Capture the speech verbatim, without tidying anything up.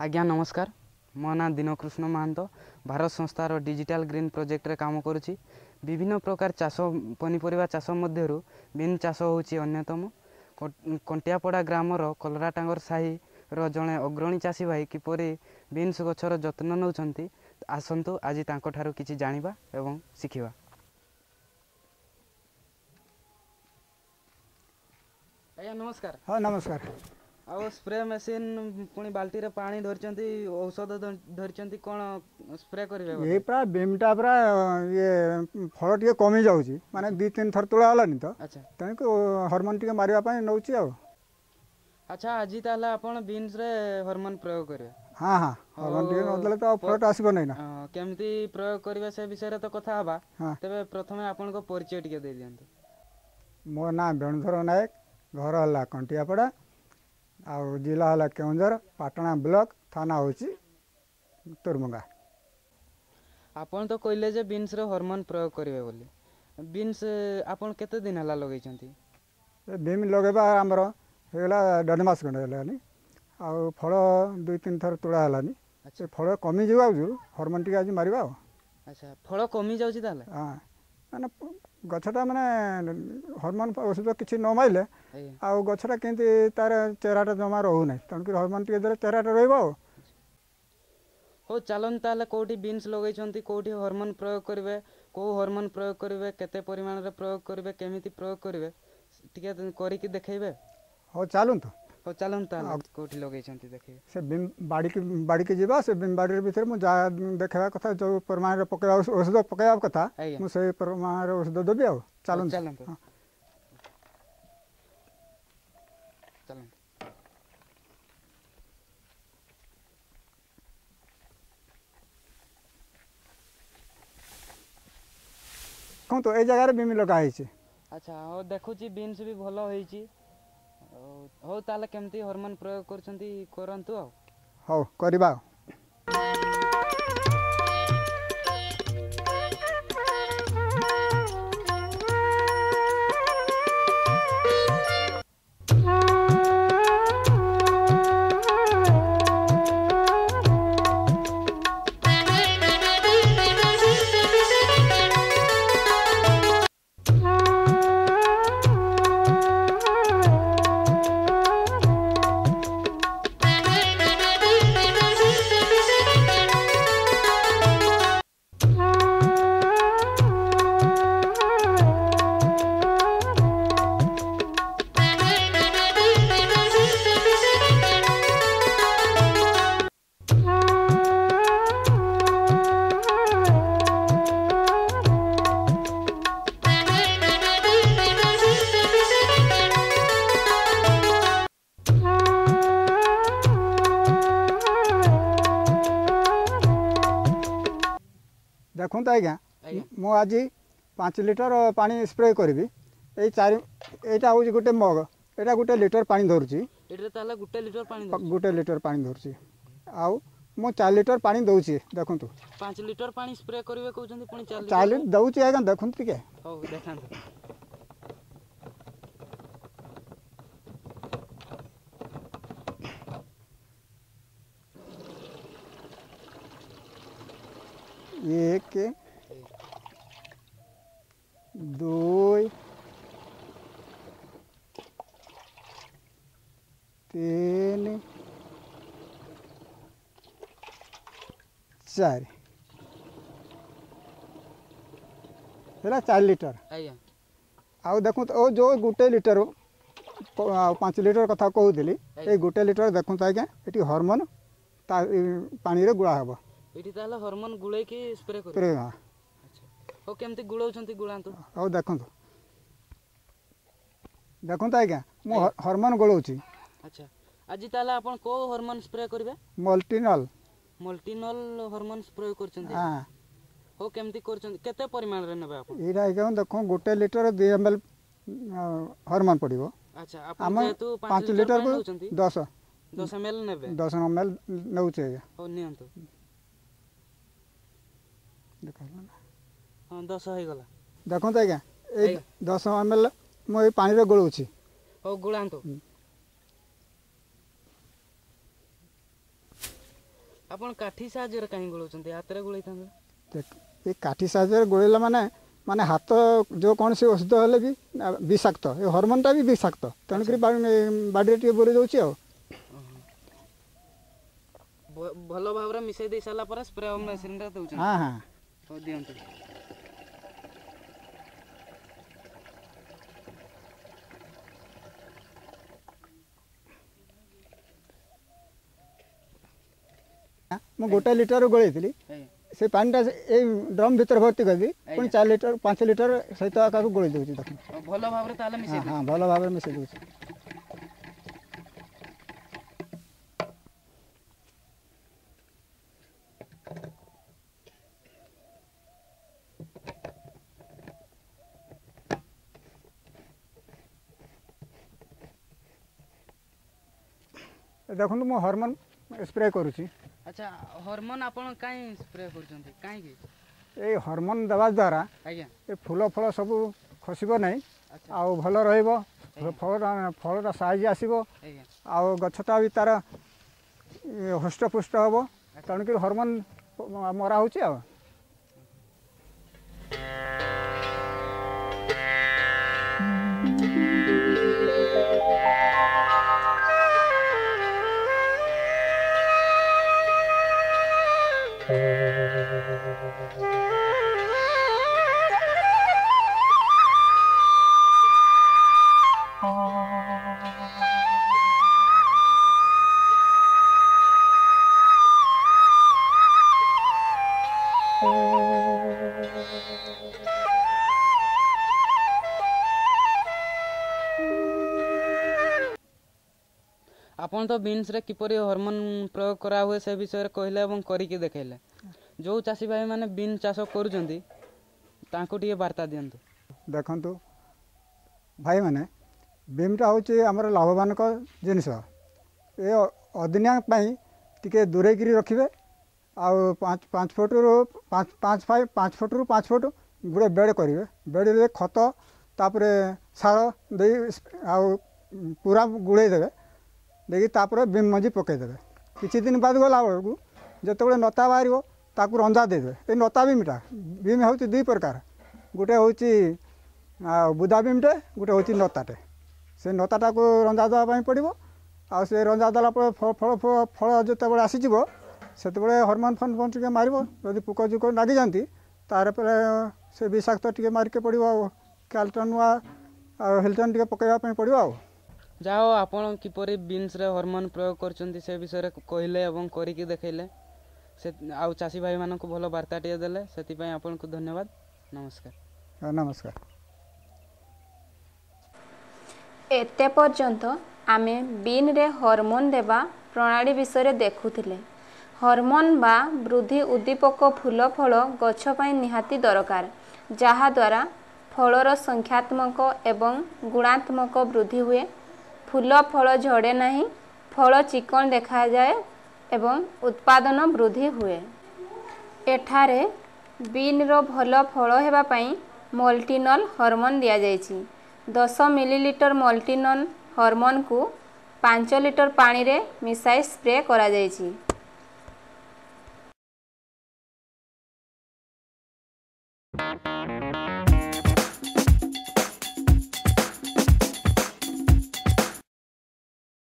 ଆଜ୍ଞା ନମସ୍କାର, ମୋ ନାଁ ଦୀନକୃଷ୍ଣ ମହାନ୍ତ। ଭାରତ ସଂସ୍ଥାର ଡିଜିଟାଲ ଗ୍ରୀନ୍ ପ୍ରୋଜେକ୍ଟରେ କାମ କରୁଛି। ବିଭିନ୍ନ ପ୍ରକାର ଚାଷ, ପନିପରିବା ଚାଷ ମଧ୍ୟରୁ ବିନ୍ ଚାଷ ହେଉଛି ଅନ୍ୟତମ। କଣ୍ଟିଆପଡ଼ା ଗ୍ରାମର କଲରାଟାଙ୍ଗର ସାହିର ଜଣେ ଅଗ୍ରଣୀ ଚାଷୀ ଭାଇ କିପରି ବିନ୍ସ ଗଛର ଯତ୍ନ ନେଉଛନ୍ତି, ଆସନ୍ତୁ ଆଜି ତାଙ୍କଠାରୁ କିଛି ଜାଣିବା ଏବଂ ଶିଖିବା। ଆଜ୍ଞା ନମସ୍କାର। ହଁ ନମସ୍କାର। ଆଉ ସ୍ପ୍ରେ ମେସିନ୍, ପୁଣି ବାଲ୍ଟିରେ ପାଣି ଧରିଛନ୍ତି, ଔଷଧ ଧରିଛନ୍ତି, କ'ଣ ସ୍ପ୍ରେ କରିବେ? ଏ ପୁରା ବିମ୍ଟା ପୁରା ଇଏ ଫଳ ଟିକେ କମି ଯାଉଛି, ମାନେ ଦୁଇ ତିନି ଥର ତୋଳା ହେଲାନି ତ, ତେଣୁ ହରମୋନ୍ ଟିକେ ମାରିବା ପାଇଁ ନେଉଛି ଆଉ। ଆଚ୍ଛା, ଆଜି ତାହେଲେ ଆପଣ ବିନ୍ସରେ ହରମୋନ୍ ପ୍ରୟୋଗ କରିବେ? ହଁ ହଁ, ହରମୋନ୍ ଟିକେ ନଦେଲେ ତ ଫଳଟା ଆସିବ ନାହିଁ ନା। କେମିତି ପ୍ରୟୋଗ କରିବେ ସେ ବିଷୟରେ ତ କଥା ହେବା, ତେବେ ପ୍ରଥମେ ଆପଣଙ୍କ ପରିଚୟ ଟିକେ ଦେଇଦିଅନ୍ତୁ। ମୋ ନାଁ ବେଣୁଧର ନାୟକ, ଘର ହେଲା କଣ୍ଟିଆପଡ଼ା, ଆଉ ଜିଲ୍ଲା ହେଲା କେଉଁଝର, ପାଟଣା ବ୍ଲକ, ଥାନା ହେଉଛି ତୁରମୁଙ୍ଗା। ଆପଣ ତ କହିଲେ ଯେ ବିନ୍ସରେ ହରମୋନ୍ ପ୍ରୟୋଗ କରିବେ ବୋଲି, ବିନ୍ସ ଆପଣ କେତେ ଦିନ ହେଲା ଲଗେଇଛନ୍ତି? ବିନ୍ ଲଗେଇବା ଆମର ହେଇଗଲା ଦେଢ଼ ମାସ ଖଣ୍ଡେ ହେଲାନି, ଆଉ ଫଳ ଦୁଇ ତିନି ଥର ତୋଳା ହେଲାନି। ସେ ଫଳ କମିଯିବ, ଆଉ ହରମୋନ୍ ଟିକେ ଆଜି ମାରିବା ଆଉ। ଆଚ୍ଛା, ଫଳ କମି ଯାଉଛି ତାହେଲେ? ହଁ, ମାନେ ଗଛଟା ମାନେ ହରମୋନ୍ ଔଷଧ କିଛି ନ ମାରିଲେ ଆଉ ଗଛଟା କେମିତି ତାର ଚେହେରାଟା ଜମା ରହୁନାହିଁ, ତେଣୁକରି ହରମୋନ୍ ଟିକେ ଦେଲେ ଚେହେରାଟା ରହିବ ଆଉ। ହଉ ଚାଲନ୍ତୁ ତାହେଲେ, କେଉଁଠି ବିନ୍ସ ଲଗେଇଛନ୍ତି, କେଉଁଠି ହରମୋନ୍ ପ୍ରୟୋଗ କରିବେ, କେଉଁ ହରମୋନ୍ ପ୍ରୟୋଗ କରିବେ, କେତେ ପରିମାଣରେ ପ୍ରୟୋଗ କରିବେ, କେମିତି ପ୍ରୟୋଗ କରିବେ, ଟିକେ କରିକି ଦେଖେଇବେ। ହଉ ଚାଲନ୍ତୁ। ହଉ ଚାଲନ୍ତୁ ତାହେଲେ, କେଉଁଠି ଲଗେଇଛନ୍ତି ଦେଖେଇବେ। ସେ ବାଡ଼ିକି ବାଡ଼ିକି ଯିବା, ସେ ବାଡ଼ିର ଭିତରେ ମୁଁ ଯାହା ଦେଖେଇବା କଥା, ଯେଉଁ ପରିମାଣରେ ପକେଇବା ଔଷଧ ପକେଇବା କଥା, ମୁଁ ସେଇ ପରିମାଣରେ ଔଷଧ ଦେବି ଆଉ। ଚାଲନ୍ତୁ ଚାଲନ୍ତୁ ଚାଲନ୍ତୁ। ଦେଖନ୍ତୁ, ଏଇ ଜାଗାରେ ବିମି ଲଗା ହେଇଛି। ଆଚ୍ଛା, ହଉ ଦେଖୁଛି, ବିନ୍ସ ବି ଭଲ ହେଇଛି। ହଉ ତାହେଲେ କେମିତି ହରମୋନ୍ ପ୍ରୟୋଗ କରୁଛନ୍ତି କରନ୍ତୁ ଆଉ। ହଉ କରିବା। ଦେଖନ୍ତୁ ଆଜ୍ଞା, ମୁଁ ଆଜି ପାଞ୍ଚ ଲିଟର ପାଣି ସ୍ପ୍ରେ କରିବି। ଏଇ ଚାରି, ଏଇଟା ହେଉଛି ଗୋଟେ ମଗ, ଏଇଟା ଗୋଟେ ଲିଟର ପାଣି ଧରୁଛି। ଗୋଟେ ଲିଟର ପାଣି, ଗୋଟେ ଲିଟର ପାଣି ଧରୁଛି, ଆଉ ମୁଁ ଚାରି ଲିଟର ପାଣି ଦେଉଛି। ଦେଖନ୍ତୁ, ପାଞ୍ଚ ଲିଟର ପାଣି ସ୍ପ୍ରେ କରିବେ କହୁଛନ୍ତି, ପୁଣି ଚାରି ଲିଟର ଦେଉଛି ଆଜ୍ଞା, ଦେଖନ୍ତୁ ଟିକେ। ହଉ ଦେଖାନ୍ତୁ। ଏକ, ଦୁଇ, ତିନି, ଚାରି, ହେଲା ଚାରି ଲିଟର ଆଜ୍ଞା। ଆଉ ଦେଖନ୍ତୁ, ଓ ଯେଉଁ ଗୋଟେ ଲିଟର ଆଉ ପାଞ୍ଚ ଲିଟର କଥା କହୁଥିଲି, ଏଇ ଗୋଟେ ଲିଟର ଦେଖନ୍ତୁ ଆଜ୍ଞା, ଏଠି ହରମୋନ୍ ତା ପାଣିରେ ଗୁଳା ହେବ। ଏଠି ତାହେଲେ ହରମୋନ୍ ଗୁଳେଇକି ସ୍ପ୍ରେ କରିବେ? ହଁ। ହଉ, କେମିତି ଗୁଳଉଛନ୍ତି ଗୁଳାନ୍ତୁ। ହଉ ଦେଖନ୍ତୁ, ଦେଖନ୍ତୁ ଆଜ୍ଞା, ମୁଁ ହରମୋନ୍ ଗୋଳଉଛି। ଆଚ୍ଛା, ଆଜି ତାହେଲେ ଆପଣ କୋଉ ହରମୋନ୍ ସ୍ପ୍ରେ କରିବେ? ମଲ୍ଟିନଲ୍। ମଲ୍ଟିନଲ୍ ହରମୋନ୍ ସ୍ପ୍ରେ କରୁଛନ୍ତି? ହଁ। ହଉ, କେମିତି କରୁଛନ୍ତି, କେତେ ପରିମାଣରେ ନେବେ ଆପଣ? ଏଇଟା ଆଜ୍ଞା ଦେଖ, ଗୋଟେ ଲିଟର ଦୁଇ ଏମ୍ ଏଲ୍ ହରମୋନ୍ ପଡ଼ିବ। ଆଚ୍ଛା, ଆପଣ ଯେହେତୁ ପାଞ୍ଚ ଲିଟରକୁ ଦଶ ଦଶ ଏମ୍ ଏଲ୍ ନେବେ? ଦଶ ଏମ୍ ଏଲ୍ ନେଉଛି ଆଜ୍ଞା। ହଉ ନିଅନ୍ତୁ। ହଁ, ଦଶ ହେଇଗଲା। ଦେଖନ୍ତୁ ଆଜ୍ଞା, ଏଇ ଦଶ ଏମ୍ ଏଲ୍ ମୁଁ ଏଇ ପାଣିରେ ଗୋଳଉଛି। ହଉ, ଗୋଳାନ୍ତୁ। ଆପଣ କାଠି ସାହାଯ୍ୟରେ କାହିଁ ଗୋଳଉଛନ୍ତି? ହାତରେ ଗୋଳେଇଥାନ୍ତେ। ଏ କାଠି ସାହାଯ୍ୟରେ ଗୋଳେଇଲା ମାନେ ମାନେ ହାତ ଯେକୌଣସି ଔଷଧ ହେଲେ ବି ବିଷାକ୍ତ, ଏ ହରମୋନ୍ଟା ବି ବିଷାକ୍ତ, ତେଣୁକରି ବାଡ଼ିରେ ଟିକେ ବୋଳି ଦେଉଛି ଆଉ। ଭଲ ଭାବରେ ମିଶାଇ ଦେଇ ସାରିଲା ପରେ ସ୍ପ୍ରେ ମେସିନ୍ରେ ଦେଉଛନ୍ତି? ହଁ ହଁ। ହଉ, ଦିଅନ୍ତୁ। ମୁଁ ଗୋଟେ ଲିଟର ଗୋଳେଇଥିଲି, ସେ ପାଣିଟା ଏଇ ଡ୍ରମ୍ ଭିତରେ ଭର୍ତ୍ତି କରିବି, ପୁଣି ଚାରି ଲିଟର ପାଞ୍ଚ ଲିଟର ସହିତ କାକୁ ଗୋଳେଇ ଦେଉଛି। ଦେଖନ୍ତୁ, ଭଲ ଭାବରେ ତାହେଲେ ମିଶେଇ। ହଁ, ଭଲ ଭାବରେ ମିଶେଇ ଦେଉଛି। ଦେଖନ୍ତୁ, ମୁଁ ହରମୋନ୍ ସ୍ପ୍ରେ କରୁଛି। ଆଚ୍ଛା, ହରମୋନ୍ ଆପଣ କାହିଁ ସ୍ପ୍ରେ କରୁଛନ୍ତି, କାହିଁକି? ଏଇ ହରମୋନ୍ ଦେବା ଦ୍ୱାରା ଆଜ୍ଞା ଏ ଫୁଲ ଫଳ ସବୁ ଖସିବ ନାହିଁ, ଆଉ ଭଲ ରହିବ, ଫଳଟା ଫଳଟା ସାଇଜ୍ ଆସିବ, ଆଉ ଗଛଟା ବି ତାର ହୃଷ୍ଟପୁଷ୍ଟ ହେବ, ତେଣୁକରି ହରମୋନ୍ ମରା ହେଉଛି। ଆଉ ଆପଣ ତ ବିନ୍ସରେ କିପରି ହରମୋନ୍ ପ୍ରୟୋଗ କରାହୁଏ ସେ ବିଷୟରେ କହିଲେ ଏବଂ କରିକି ଦେଖାଇଲେ। ଯେଉଁ ଚାଷୀ ଭାଇମାନେ ବିନ୍ ଚାଷ କରୁଛନ୍ତି, ତାଙ୍କୁ ଟିକେ ବାର୍ତ୍ତା ଦିଅନ୍ତୁ। ଦେଖନ୍ତୁ ଭାଇମାନେ, ବିମ୍ଟା ହେଉଛି ଆମର ଲାଭବାନକ ଜିନିଷ। ଏ ଅଦିନିଆ ପାଇଁ ଟିକେ ଦୂରେଇକିରି ରଖିବେ, ଆଉ ପାଞ୍ଚ ପାଞ୍ଚ ଫୁଟରୁ ପାଞ୍ଚ ପାଞ୍ଚ ପାଞ୍ଚ ଫୁଟରୁ ପାଞ୍ଚ ଫୁଟ ଗୋଟେ ବେଡ଼ କରିବେ। ବେଡ଼ରେ ଖତ, ତାପରେ ସାର ଦେଇ ଆଉ ପୁରା ଗୁଳେଇ ଦେବେ, ଦେଇକି ତାପରେ ବିମ୍ ମଞ୍ଜି ପକାଇଦେବେ। କିଛି ଦିନ ବାଦ ଗଲା ବେଳକୁ ଯେତେବେଳେ ନତା ବାହାରିବ, ତାକୁ ରଞ୍ଜା ଦେଇଦେବେ। ଏ ନତା ବିମ୍ଟା, ବିମ୍ ହେଉଛି ଦୁଇ ପ୍ରକାର, ଗୋଟେ ହେଉଛି ଆଉ ବୁଦା ବିମ୍ଟେ, ଗୋଟେ ହେଉଛି ନତାଟେ। ସେ ନତାଟାକୁ ରଞ୍ଜା ଦେବା ପାଇଁ ପଡ଼ିବ। ଆଉ ସେ ରଞ୍ଜା ଦେଲା ପରେ ଫଳ ଫଳ ଯେତେବେଳେ ଆସିଯିବ, ସେତେବେଳେ ହରମୋନ୍ ଫରମୋନ୍ ଟିକେ ମାରିବ। ଯଦି ପୋକ ଜୋକ ଲାଗିଯାଆନ୍ତି, ତାର ପରେ ସେ ବିଷାକ୍ତ ଟିକେ ମାରିକେ ପଡ଼ିବ, ଆଉ କ୍ୟାଲଟନ୍ ଆଉ ହିଲଟନ୍ ଟିକେ ପକାଇବା ପାଇଁ ପଡ଼ିବ। ଆଉ ଯାହା ହଉ, ଆପଣ କିପରି ବିନ୍ସରେ ହରମୋନ୍ ପ୍ରୟୋଗ କରୁଛନ୍ତି ସେ ବିଷୟରେ କହିଲେ ଏବଂ କରିକି ଦେଖାଇଲେ ସେ, ଆଉ ଚାଷୀ ଭାଇମାନଙ୍କୁ ଭଲ ବାର୍ତ୍ତାଟିଏ ଦେଲେ, ସେଥିପାଇଁ ଆପଣଙ୍କୁ ଧନ୍ୟବାଦ। ନମସ୍କାର। ନମସ୍କାର। ଏତେ ପର୍ଯ୍ୟନ୍ତ ଆମେ ବିନ୍ରେ ହରମୋନ୍ ଦେବା ପ୍ରଣାଳୀ ବିଷୟରେ ଦେଖୁଥିଲେ। ହରମୋନ୍ ବା ବୃଦ୍ଧି ଉଦ୍ଦୀପକ ଫୁଲ ଫଳ ଗଛ ପାଇଁ ନିହାତି ଦରକାର, ଯାହାଦ୍ୱାରା ଫଳର ସଂଖ୍ୟାତ୍ମକ ଏବଂ ଗୁଣାତ୍ମକ ବୃଦ୍ଧି ହୁଏ, ଫୁଲ ଫଳ ଝଡ଼େ ନାହିଁ, ଫଳ ଚିକଣ ଦେଖାଯାଏ ଏବଂ ଉତ୍ପାଦନ ବୃଦ୍ଧି ହୁଏ। ଏଠାରେ ବିନ୍ର ଭଲ ଫଳ ହେବା ପାଇଁ ମଲ୍ଟିନଲ୍ ହରମୋନ୍ ଦିଆଯାଇଛି। ଦଶ ମିଲିଲିଟର ମଲ୍ଟିନଲ୍ ହରମୋନ୍କୁ ପାଞ୍ଚ ଲିଟର ପାଣିରେ ମିଶାଇ ସ୍ପ୍ରେ କରାଯାଇଛି।